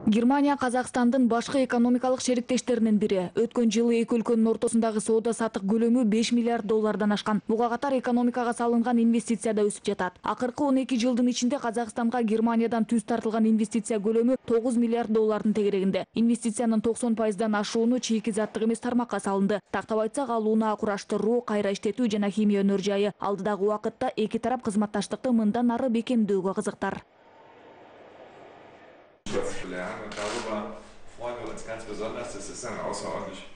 Германия Казакстандын башкы экономикалык шериктештеринин бири. Өткөн жылы эки өлкөнүн ортосундагы соода саттык көлөмү 5 миллиард доллардан ашкан. Буга катар экономикага салынган инвестиция да өсүп жатат. Акыркы 12 жылдын ичинде Казакстанга Германиядан түз тартылган инвестиция көлөмү 9 миллиард доллардын тегерегинде. Инвестициянын 90%дан ашууну чийки заттык эмес тармакка салынды. Тактап айтсак, ал унаа кураштыруу, кайра иштетүү жана химия өнөр жайы. Алдыдагы убакытта эки тарап кызматташтыкты мындан ары бекемдөөгө кызыктар.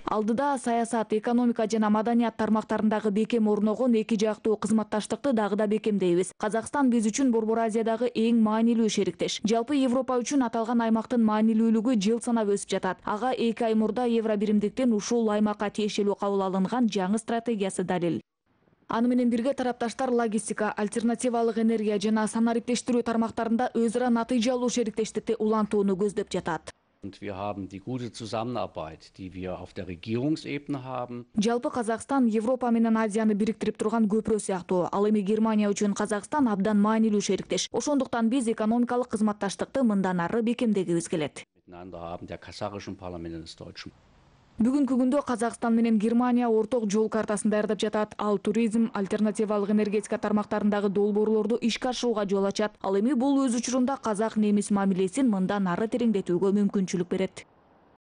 Алдыда саясат, экономика жана маданият тармактарындагы бекем орногон эки жактуу кызматташтыкты дагы да бекемдейбиз. Казакстан биз үчүн Борбор Азиядагы эң маанилүү шериктеш. Жалпы Европа үчүн аталган аймактын маанилүүлүгү жыл санап өсүп жатат. Ага 2 ай мурда Евро биримдиктен ушул аймакка тиешелүү кабыл алынган жаңы стратегиясы далил. Аны менен бирге тарапташтар логистика, альтернативалык энергия жана санариптештирүү тармактарында өз ара натыйжалуу шериктештикти улантууну көздөп жатат. Und wir haben die gute Zusammenarbeit, die wir auf der Regierungsebene haben. Жалпы Казакстан Европа менен Азияны бириктирип турган көпүрө сыяктуу. Ал эми Германия үчүн Казакстан абдан маанилүү шериктеш. Ошондуктан биз экономикалык кызматташтыкты мындан ары бекемдегибиз келет. Miteinander haben der kasachischen Parlament und des deutschen. Бүгүнкү күндө Казакстан менен Германия орток жол картасын даярдап жатат. Ал туризм, альтернативалык энергетика тармактарындагы долбоорлорду ишке ашырууга жол ачат. Ал эми бул өз учурунда казак-немис мамилесин мындан ары тереңдетүүгө мүмкүнчүлүк берет.